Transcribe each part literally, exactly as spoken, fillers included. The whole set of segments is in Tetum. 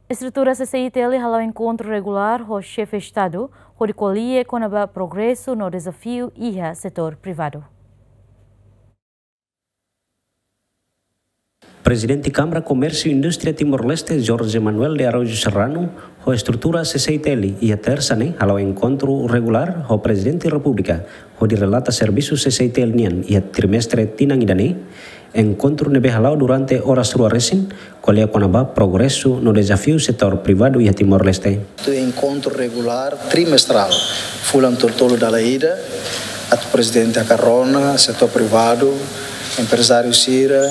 Estrutura C C I T L hala'o enkontru regulár ho Xefe Estadu, hodi ko'alia kona-ba progresu no dezafiu iha setór privadu. Prezidente Kámara Komérsiu Indústria Timor-Leste, Jorge Manuel de Araújo Serrano, ho estrutura C C I T L iha Tersa ne'e hala'o enkontru regulár ho Prezidente Repúblika, hodi relata servisu C C I T L nian iha trimestre tinan ida-ne'e. Enkontru ne'ebé hala'o durante oras rua resin, ko'alia kona-ba progresu no dezafiu setór privadu iha Timor-Leste. Atu enkontru regulár trimestrál, fulan tolu-tolu dala ida, atu prezidente hakarak rona setór privadu, emprezáriu sira,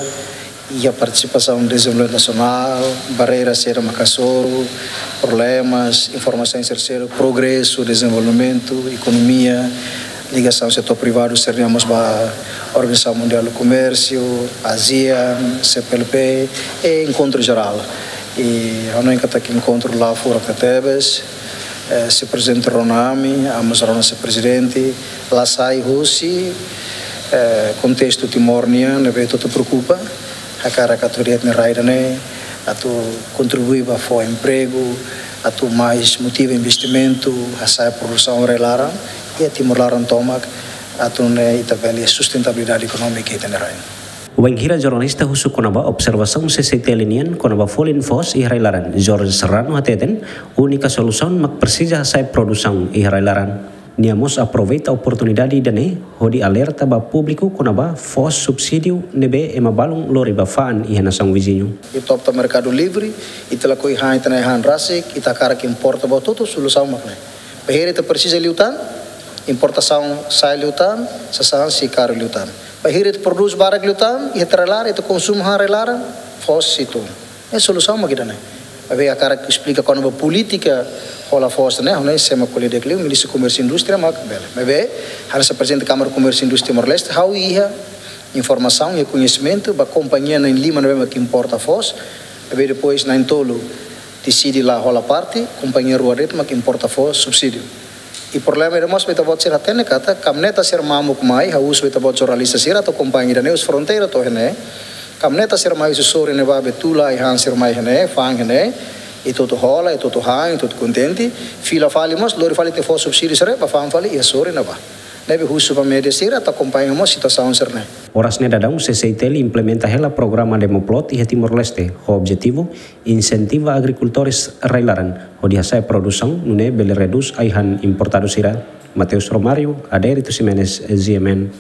iha partisipasaun dezenvolvimentu nasionál, barreira sira mak hasoru, problemas, informasaun sira, progresu, dezenvolvimentu, ekonomia, ligasaun setór privadu sira-ne'e mós ba Organizasaun Mundiál do Komérsiu, ASEAN, C P L P, i enkontru jerál. I ha'u hanoin katak enkontru la furak tebes, eh, se prezidente rona ami, ami mós rona se prezidente, la sai husi, eh, kontestu Timor nian, ne'ebé ita hotu preokupa, hakarak atu de'it nia rai ida-ne'e, atu kontribui ba fó empregu, atu mais motiva investimentu, hasa'e produsaun rai-laran, i Timor laran tomak, atu nune'e ita bele sustentabilidade ekonómika ita-nia rai. Wainhira jornalista husu kona-ba observasaun C C I T L nian kona-ba folin foos iha rai-laran, Jorge Serrano hateten, únika solusaun mak presiza hasa'e produsaun iha rai-laran. Nia mós aproveita oportunidade ida-ne'e hodi alerta ba públiku kona-ba foos subsídiu ne'ebé ema balun lori ba fa'an iha nasaun viziñu. Ita opta merkadu livre, ita lakohi han ita-nia han rasik, ita hakarak importa buat hotu, solusaun mak ne'e. Bainhira ita presiza liután, importasaun sa'e liután, sasán sei karu liután. Bainhira ita prodús barak liután, iha rai-laran, ita konsumu han rai-laran, foos sei tun. Ne'e solusaun mak ida-ne'e. Maibé hakarak esplika kona-ba polítika hola foos ne'e, ha'u hanoin sé mak ko'alia di'ak liu, Ministru Komérsiu Indústria mak bele. Maibé, hanesan Prezidente Kámara Komérsiu Indústria Timor-Leste, ha'u iha informasaun, iha koñesimentu ba kompañia na'in lima ne'ebé mak importa foos, maibé depois na'in tolu deside la hola parte, kompañia rua de'it mak importa foos subsídiu. I problema ida mós ba ita-boot sira hatene katak, kamioneta sira mamuk mai, ha'u husu ba ita-boot jornalista sira atu akompaña ida-ne'e husi fronteira to'o iha ne'e. Kamioneta sira mai husi sorin ne'ebá, bele tula ai-han sira mai iha ne'e, fa'an iha ne'e, ita hotu hola, ita hotu han, ita hotu kontente, fila fali mós, lori fali ita-nia foos subsídiu sira, bá fa'an fali iha sorin ne'ebá. Ne'ebé husu ba média sira atu akompaña mós situasaun sira-ne'e. Oras ne'e daudaun C C I T L implementa hela programa Demoplot iha Timor-Leste, ho objetivu insentiva agrikultores rai-laran hodi hasa'e produsaun nune'e bele redús ai-han importadu sira. Mateus Romário, Adérito Ximenes, G M N.